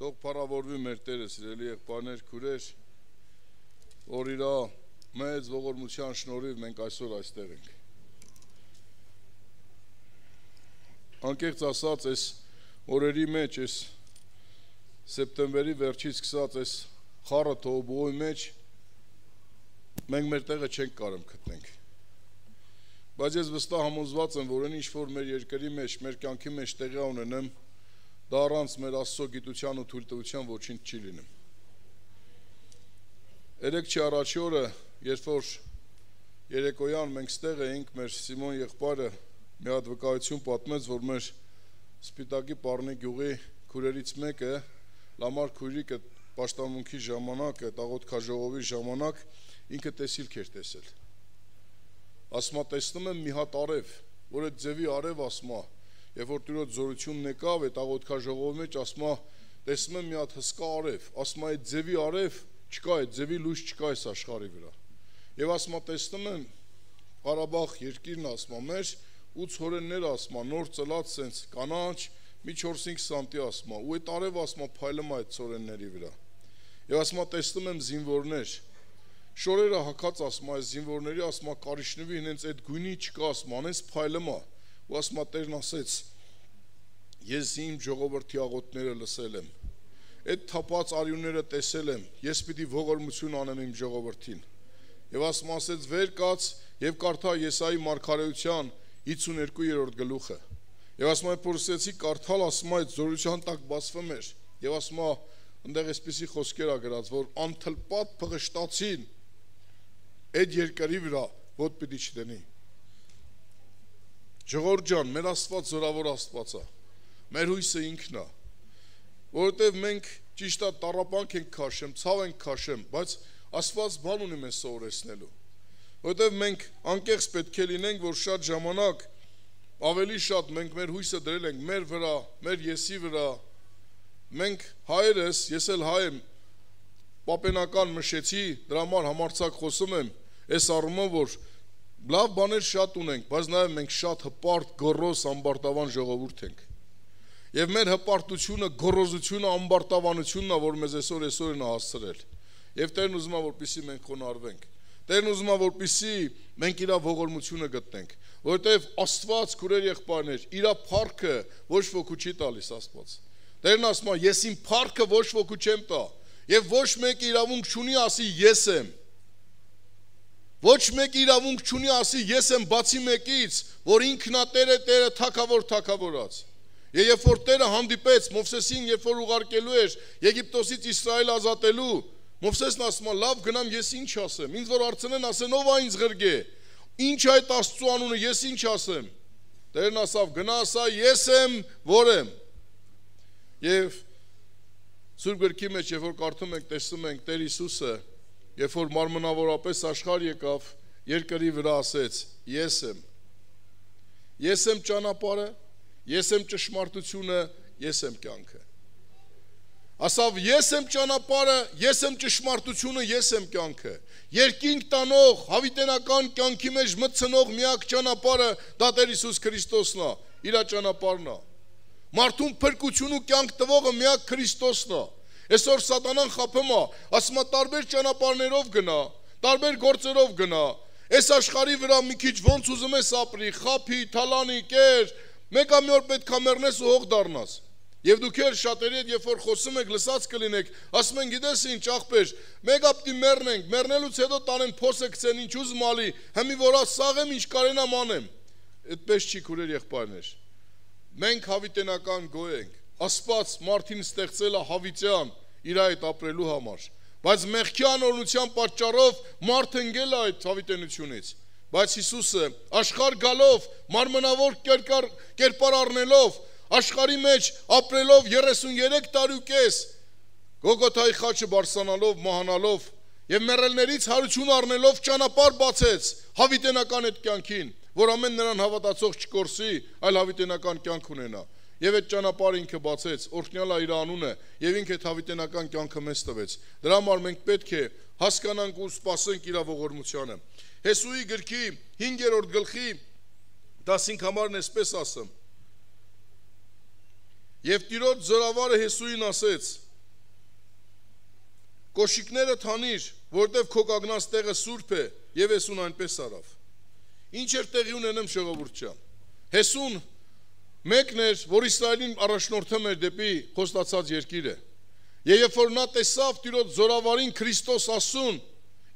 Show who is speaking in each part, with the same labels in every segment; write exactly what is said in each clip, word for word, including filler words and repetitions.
Speaker 1: Թող փառավորվի մեր Տերը, սիրելի եղբայրներ, քուրեր, որ իր մեծ ողորմության շնորհիվ մենք այսօր այստեղ ենք։ Անկեղծ ասած, այս օրերի մեջ, այս սեպտեմբերի վերջից սկսած այս խառը թողբողոյի մեջ մենք մեր տեղը չենք կարող գտնենք։ Բայց ես վստահ համոզված եմ, որ այն ինչ որ մեր երկրի մեջ, մեր կյանքի մեջ տեղի ունենեմ, դա առանց մեր Աստծո գիտության ու թույլտվության ոչինչ չի լինում։ Երեկ չի առաջի օրը, երբ որ երեկոյան մենք ստեղ էինք, մեր Սիմոն եղբայրը մի հատ վկայություն պատմեց, որ մեր Սպիտակի Պառնի գյուղի քուրերից մեկը Լամար քույրիկը պաշտամունքի ժամանակ, աղոթքաժողովի ժամանակ ինքը տեսիլք էր տեսել։ Ասմա տեսնում եմ մի հատ արև, որ այդ ձևի արև ասմա, երբ որ Տիրոջ զորությունն եկավ, այդ աղոթքաժողովի մեջ ասմա տեսնում եմ մի հատ հսկա արև, ասմա այդ ձևի արև չկա, այդ ձևի լույս չկա այս աշխարհի վրա։ Եվ ասմա տեսնում եմ Ղարաբաղ երկիրն ասմա մեր ու ցորեններ ասմա նոր ծլած սենց կանաչ մի չորս-հինգ սանտի ասմա ու այդ արև ասմա փայլում այդ ցորենների վրա։ Եվ ասմա տեսնում եմ զինվորներ շորերը հակած ասմա այս զինվորների ասմա կարիշնվի հենց այդ գույնի չկա ասմա անես փայլմա ու ասմա Տերն ասեց ես իմ ժողովրդի աղոթները լսել եմ այդ թափած արյունները տեսել եմ ես պիտի ողորմություն անեմ իմ ժողովրդին եւ ասմա ասեց վեր կաց եւ կարդա Եսայի մարգարեության հիսունյոթերորդ գլուխը եւ ասմա փորձեցի կարդալ ասմա այդ զորության տակ բացվում էր եւ ասմա այնտեղ էսպիսի խոսքեր ա գրած որ անթլպատ փղշտացին այդ երկրի վրա ոտ պիտի չդնի Ժողովուրդ ջան, մեր Աստված զորավոր Աստված է մեր հույսը ինքն է որովհետև մենք ճիշտ է տառապանք ենք քաշեմ ցավ ենք քաշեմ բայց Աստված բան ունի մեզ սովորեցնելու որովհետև մենք անկեղծ պետք է լինենք որ շատ ժամանակ ավելի շատ մենք մեր հույսը դրել ենք մեր վրա մեր եսի վրա մենք հայերս ես էլ հայ եմ պապենական մշեցի դրա համար համարձակ խոսում եմ այս առումով որ լավ բաներ շատ ունենք բայց նաև մենք շատ հպարտ գոռոզ ամբարտավան ժողովուրդ ենք եւ մեր հպարտությունը գոռոզությունը ամբարտավանությունն է որ մեզ այսօր այսօր են հասցրել եւ Տերն ուզում է որպեսզի մենք խոնարհվենք Տերն ուզում է որպեսզի մենք իր ողորմությունը գտնենք որովհետեւ Աստված քուրեր եղբայրներ իր փառքը ոչ ոքի չի տալիս Աստված Տերն ասում է ես իմ փառքը ոչ ոքի չեմ տա եւ ոչ մեկը իրավունք չունի ասի ես եմ Ոչ մեկը իրավունք չունի ասի ես եմ բացի մեկից, որ ինքնատեր է Տերը թագավոր թագավորած։ Եվ երբ որ Տերը հանդիպեց Մովսեսին, երբ որ ուղարկելու էր Եգիպտոսից Իսրայել ազատելու, Մովսեսն ասում է՝ լավ գնամ ես ինչ ասեմ։ Ինձ որ հարցնեն ասեն ով է ինձ ղրգե։ Ինչ այդ Աստծո անունը ես ինչ ասեմ։ Տերն ասավ գնա ասա ես եմ, որ եմ։ Եվ Սուրբ գրքի մեջ երբ որ կարդում ենք, տեսնում ենք Տեր Հիսուսը Երբ որ մարմնավորապես աշխարհ եկավ, երկրի վրա ասեց. Ես եմ։ Ես եմ ճանապարհը, ես եմ ճշմարտությունը, ես եմ կյանքը։ Ասավ ես եմ ճանապարհը, ես եմ ճշմարտությունը, ես եմ կյանքը։ Երկինք տանող, հավիտենական կյանքի մեջ մտցնող միակ ճանապարհը դա Տեր Հիսուս Քրիստոսն է, իր ճանապարհն է։ Մարդուն փրկություն ու կյանք տվողը միակ Քրիստոսն է։ Այսօր սատանան խափում է, ասում է տարբեր ճանապարհներով գնա, տարբեր գործերով գնա։ Այս աշխարհի վրա մի քիչ ոնց ուզում ես ապրի, խափի, թալանի, կեր, մեկ ամի օր պետք է մեռնես ու հող դառնաս։ Եվ դուք էլ շատերի հետ երբ որ խոսում եք, լսած կլինեք, ասում են գիտես ինչ աղբեր, մեկ ապտի մեռնենք, մեռնելուց հետո տանեն փոսը գցեն, ինչ ուզում ալի, հիմի որ ասաղեմ ինչ կարենամ անեմ։ Այդպես չի քուրեր եղբայրներ։ Մենք հավիտենական գոյ ենք։ Աստված մարդին ստեղծել է հավիտյան իր այդ ապրելու համար բայց մեղքի անօրենության պատճառով մարդը ընկել է այդ հավիտենությունից բայց Հիսուսը աշխարհ գալով մարմնավոր կերպար առնելով աշխարհի մեջ ապրելով երեսունյոթ տարի ու կես Գողգոթայի խաչը բարձրանալով մահանալով եւ մեռելներից հարություն առնելով ճանապարհ բացեց հավիտենական այդ կյանքին որ ամեն նրան հավատացող չկորսի այլ հավիտենական կյանք ունենա Եվ այդ ճանապարհը ինքը բացեց, օրհնյալ է իր անունը, եւ ինքը այդ հավիտենական կյանքը մեզ տվեց։ Դրա համար մենք պետք է հասկանանք ու սպասենք իր ողորմությանը։ Հեսուի գրքի հինգերորդ գլխի տասնհինգ համարն էսպես ասում. Եվ Տիրոջ զորավարը Հեսուին ասեց. կոշիկները թանիր, որտեվ քո կանգնած տեղը սուրբ է, եւ Հեսուն այնպես արավ։ Ինչ էր տեղի ունենում ժողովուրդ ջան։ Հեսուն մեկն էր, որ Իսրայելին առաջնորդում էր դեպի խոստացած երկիրը։ Եվ երբ որ նա տեսավ Տիրոջ զորավարին Քրիստոս ասուն,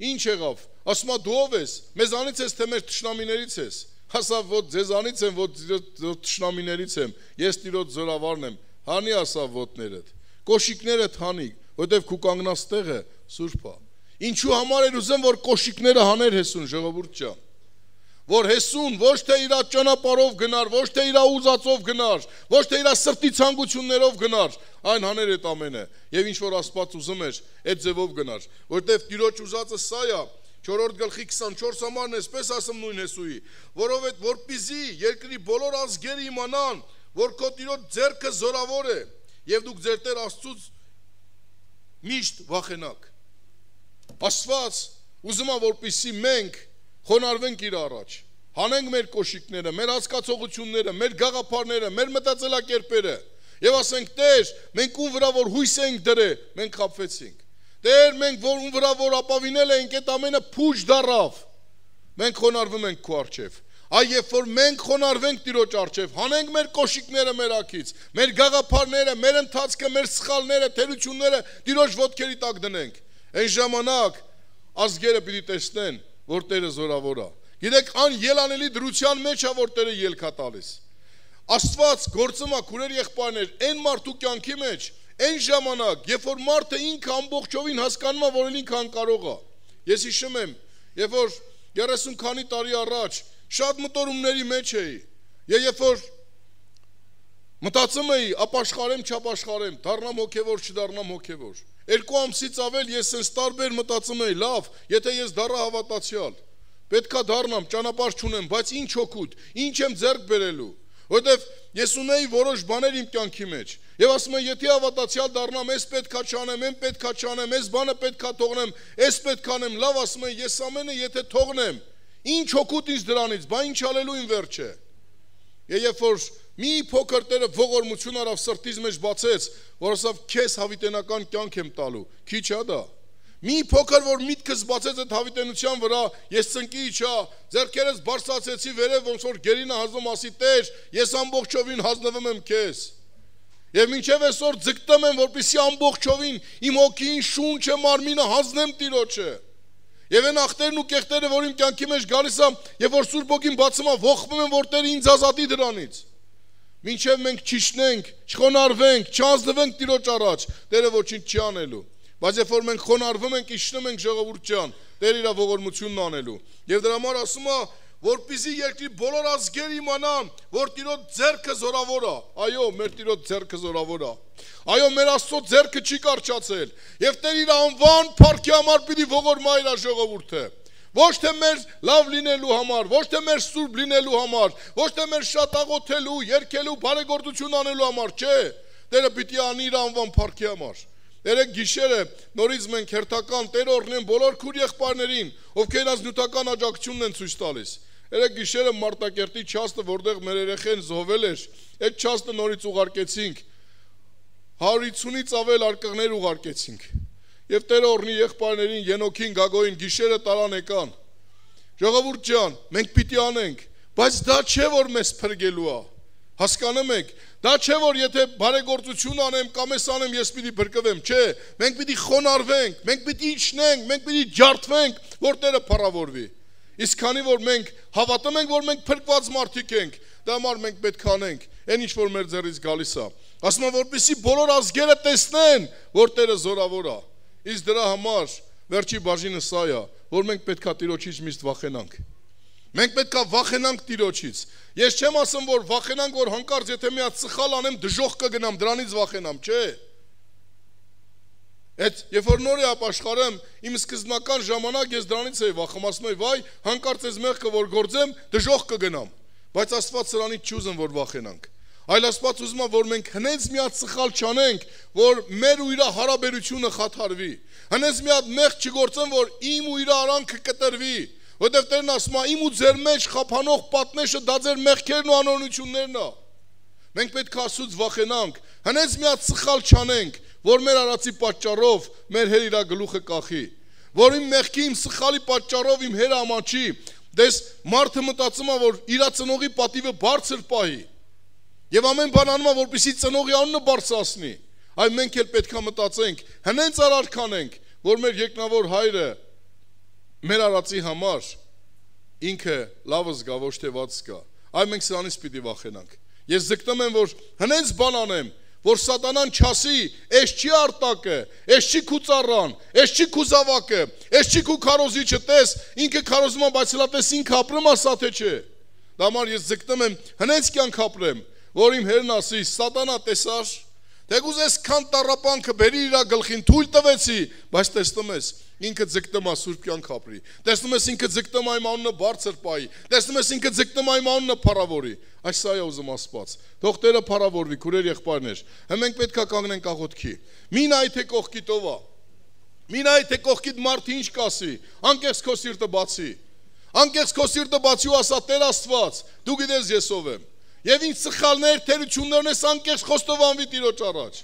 Speaker 1: ինչ եղավ։ Ասում է դու ով ես, մեզանից ես թե մեր թշնամիներից ես։ Ասավ որ ձեզանից եմ, որ թշնամիներից եմ, ես Տիրոջ զորավարն եմ։ Հանի ասավ ոտներդ, կոշիկներդ հանի, որտեվ քու կանգնած տեղը սուրբ է։ Ինչու համար էր ուզում որ կոշիկները հաներ Հեսուն ժողովուրդ ջան։ Որ Հեսուն ոչ թե իր ճանապարհով գնար, ոչ թե իր ուզածով գնար, ոչ թե իր սրտի ցանկություններով գնար, այն հաներ այդ ամենը։ Եվ ինչ որ Աստված ուզում էր, այդ ձևով գնար, որտեվ Տիրոջ ուզածը սա է, չորրորդ գլխի քսանչորս համարն էսպես ասում նույն Հեսուի, որովհետև որպեսզի երկրի բոլոր ազգերը իմանան, որ քո Տիրոջ ձեռքը զորավոր է, եւ դուք ձեր Տեր Աստծուց միշտ վախենաք։ Աստված ուզում է որպեսզի մենք խոնարհվենք իր առաջ, հանենք մեր կոշիկները, մեր հասկացողությունները, մեր գաղափարները, մեր մտածելակերպերը եւ ասենք Տեր, մենք ում վրա որ հույս ենք դրել, մենք խաբվեցինք։ Տեր, մենք որ ում վրա որ ապավինել ենք, այդ ամենը փուչ դառավ։ Մենք խոնարհվում ենք քո առջև։ Այ երբ որ մենք խոնարհվենք Տիրոջ առջև, հանենք մեր կոշիկները մեր ակից, մեր գաղափարները, մեր ընթացքը, մեր սխալները, թերությունները Տիրոջ ոտքերի տակ դնենք։ Այն ժամանակ ազգերը պիտի տեսնեն, որ Տերը զորավոր է։ Գիտեք, ան ելանելի դրության մեջ է, որ Տերը ելք է տալիս։ Աստված գործում է քուրեր եղբայրներ, այն մարդու կյանքի մեջ, այն ժամանակ, երբ որ մարդը ինքը ամբողջովին հասկանում է, որ ինքը անկարող է։ Ես հիշում եմ, երբ որ երեսուն քանի տարի առաջ շատ մտորումների մեջ էի, եւ երբ որ մտածում էի, ապաշխարեմ, չապաշխարեմ, դառնամ հոգևոր, չդառնամ հոգևոր։ Երկու ամսից ավել ես sense տարբեր մտածում էի, լավ, եթե ես դառա հավատացյալ, պետքա դառնամ, ճանապարհ չունեմ, բայց ինչ օգուտ, ինչ եմ ձեռք բերելու, որովհետև ես ունեի որոշ բաներ իմ կյանքի մեջ, եւ ասում եմ, եթե հավատացյալ դառնամ, ես պետքա չանեմ, այն պետքա չանեմ, այս բանը պետքա թողնեմ, այս պետքա անեմ, լավ, ասում եմ, ես ամենը եթե թողնեմ, ինչ օգուտ ինձ դրանից, բա ինչ անելու իմ վերջը։ Եվ երբ որ մի փոքր Տերը ողորմություն արավ սրտիս մեջ բացեց, որ ասավ քեզ հավիտենական կյանք եմ տալու, քիչ է դա։ Մի փոքր որ միտքս բացեց այդ հավիտենության վրա, ես ծնկի իջա, ձեռքերս բարձրացեցի վերև, ոնց որ գերինը հազում ասի Տեր, ես ամբողջովին հանձնվում եմ քեզ։ Եվ մինչև այսօր ձգտում եմ, որպեսզի ամբողջովին իմ հոգին, շունչը, մարմինը հանձնեմ Տիրոջը։ Եվ այն ախտերն ու կեղտերը, որ իմ կյանքի մեջ գալիս է, եւ որ Սուրբ Հոգին բացում է, ողբում եմ, որ Տերը ինձ ազատի դրանից։ Մինչև մենք չիշնենք, չխոնարհվենք, չանձնվենք Տիրոջ առաջ, Տերը ոչինչ չի անելու։ Բայց երբ որ մենք խոնարհվում ենք, իշխնում ենք ժողովուրդ ջան, Տերը իր ողորմությունն անելու։ Եվ դրա համար ասում է, որպեսզի երկրի բոլոր ազգերը իմանան, որ Տիրոջ ձեռքը զորավոր է։ Այո, մեր Տիրոջ ձեռքը զորավոր է։ Այո, մեր Աստծո ձեռքը չի կարճացել։ Եվ Տեր իր անվան փառքի համար պիտի ողորմա իր ժողովուրդը։ Ոչ թե մեր լավ լինելու համար, ոչ թե մեր սուրբ լինելու համար, ոչ թե մեր շատ աղոթելու, երգելու, բարեգործություն անելու համար, չէ։ Տերը պիտի անի իր անվան փառքի համար։ Երեք գիշերը նորից մենք հերթական Տեր օրհնեն բոլոր քուր եղբայրներին, ովքեր այս նյութական աջակցությունն են ցույց տալիս։ Երեք գիշերը Մարտակերտի չաստը, որտեղ մեր երեխեն զոհվել էր, այդ չաստը նորից ուղարկեցինք։ հարյուր ութսունից ավել արկղներ ուղարկեցինք։ Եվ Տերը օրհնի եղբայրներին, Ենոքին, Գագոին գիշերը տարան եկան։ Ժողովուրդ ջան, մենք պիտի անենք, բայց դա չէ որ մեզ փրկելու է։ Հասկանում եք, դա չէ որ եթե բարեգործություն անեմ կամ ես անեմ ես պիտի փրկվեմ, չէ, մենք պիտի խոնարհվենք, մենք պիտի իջնենք, մենք պիտի ջարդվենք, որ Տերը փառավորվի։ Իսկ քանի որ մենք հավատում ենք, որ մենք փրկված մարդիկ ենք, դա համար մենք պետք է անենք, այն ինչ որ մեր ձեռից գալիս է։ Ասում եմ, որպեսզի բոլոր ազգերը տեսնեն, որ Տերը զորավոր է։ Իսկ դրա համար վերջի բաժինը սա է, որ մենք պետք է Տիրոջից միշտ վախենանք։ Մենք պետք է վախենանք Տիրոջից։ Ես չեմ ասում, որ վախենանք, որ հանկարծ եթե մի հատ սխալ անեմ, դժոխք կգնամ, դրանից վախենամ, չէ։ Այդ երբ որ նոր է ապաշխարեմ, իմ սկզբնական ժամանակ ես դրանից էի վախում, ասում էի, վայ, հանկարծ այս մեղքը որ գործեմ, դժոխք կգնամ։ Բայց Աստված սրանից չի ուզում, որ վախենանք։ Այլ Աստված ուզում է, որ մենք հնենց մի հատ սխալ չանենք, որ մեր ու իր հարաբերությունը խաթարվի։ Հնենց մի հատ մեղք չգործեմ, որ իմ ու իր արանքը կտրվի։ Որտեվ Տերն ասում է, իմ ու ձեր մեջ խափանող պատնեշը դա ձեր մեղքերն ու անօրենություններն է։ Մենք պետք է Աստծուց վախենանք, հնենց մի հատ սխալ չանենք, որ մեր արածի պատճառով մեր հեր իրա գլուխը կախի, որ իմ մեղքի իմ սխալի պատճառով իմ հերը ամանչի, դες մարդը մտածում է, որ իրա ծնողի պատիվը բարձր պահի, եւ ամեն բան անում է, որպեսզի ծնողի անունը բարձրացնի, այ մենք էլ պետք է մտածենք, հնենց արարքանենք, որ մեր երկնավոր հայրը մեր արածի համար ինքը լավը զգա, ոչ թե վատ զգա, այ մենք սրանից պիտի վախենանք, ես ձգտում եմ, որ հնենց բան անեմ, որ սատանան չասի, ես չի արտակը, ես չի քու ծառան, ես չի քու զավակը, ես չի քու քարոզիչը, տես, ինքը քարոզում է, բայց հլա տես ինքը ապրում ասա թե չէ, դա համար ես ձգտում եմ, հնենց կյանք ապրեմ, որ իմ հերն ասի, սատանա տեսար, թեկուզ ես քան տառապանքը բերի իրա գլխին թույլ տվեցի, բայց տեսնում ես, ինքը ձգտում է սուրբ կյանք ապրի, տեսնում ես ինքը ձգտում է իմ անունը բարձր պահի, տեսնում ես ինքը ձգտում է իմ անունը փառավորի, այս սա է ուզում Աստված, թող Տերը փառավորվի, քուրեր եղբայրներ, մենք պետք է կանգնենք աղոթքի, մի նայ թե կողքիդ ով է, մի նայ թե կողքիդ մարդը ինչ կասի, անկեղծ քո սիրտը բացի, անկեղծ քո սիրտը բացի ու ասա Տեր Աստված, դու գիտես ես ով եմ, եւ ինչ սխալներ, թերություններն ես անկեղծ խոստովանվի Տիրոջ առաջ,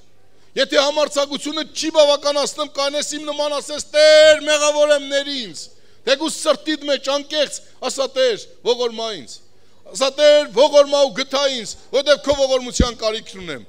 Speaker 1: եթե համարձակությունը չի բավականացնում, կանես իմ նման ասես Տեր, մեղավոր եմ ներ ինձ, թեկուզ սրտիդ մեջ անկեղծ, ասա Տեր, ողորմա ինձ, ասա Տեր, ողորմա ու գթա ինձ, որտեղ քո ողորմության կարիքն ունեմ։